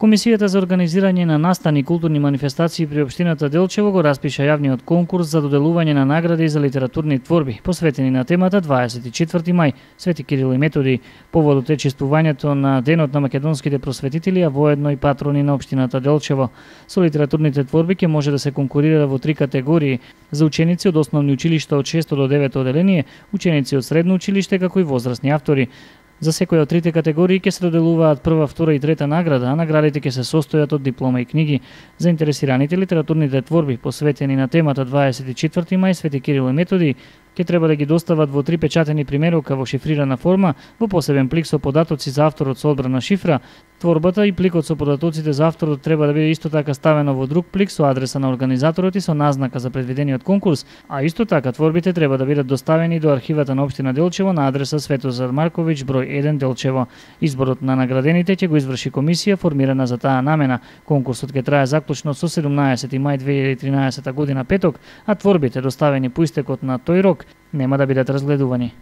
Комисијата за организирање на настани и културни манифестации при општината Делчево го распиша јавниот конкурс за доделување на награди за литературни творби, посветени на темата 24 мај, Свети Кирил и Методи, поводот е чествувањето на Денот на македонските просветители, а воедно и патрони на општината Делчево. Со литературните творби ќе може да се конкурира во 3 категории: за ученици од основни училишта од 6 до 9 оделение, ученици од средно училиште, како и возрастни автори. За секоја од трите категории ќе се доделуваат прва, втора и трета награда, а наградите ќе се состојат од диплома и книги. Заинтересираните литературните творби, посветени на темата 24 мај, Свети Кирил и Методи, ќе треба да ги достават во 3 печатени примерока во шифрирана форма, во посебен плик со податоци за авторот со одбрана шифра. Творбата и пликот со податоците за авторот треба да биде исто така ставено во друг плик со адреса на организаторот и со назнака за предвидениот конкурс, а исто така творбите треба да бидат доставени до архивата на општина Делчево на адреса Светозар Марковиќ, број 1 Делчево. Изборот на наградените ќе го изврши комисија формирана за таа намена. Конкурсот ќе трае заклучно со 17 мај 2013 година петок, а творбите доставени по истекот на тој рок нема да бидат разгледувани.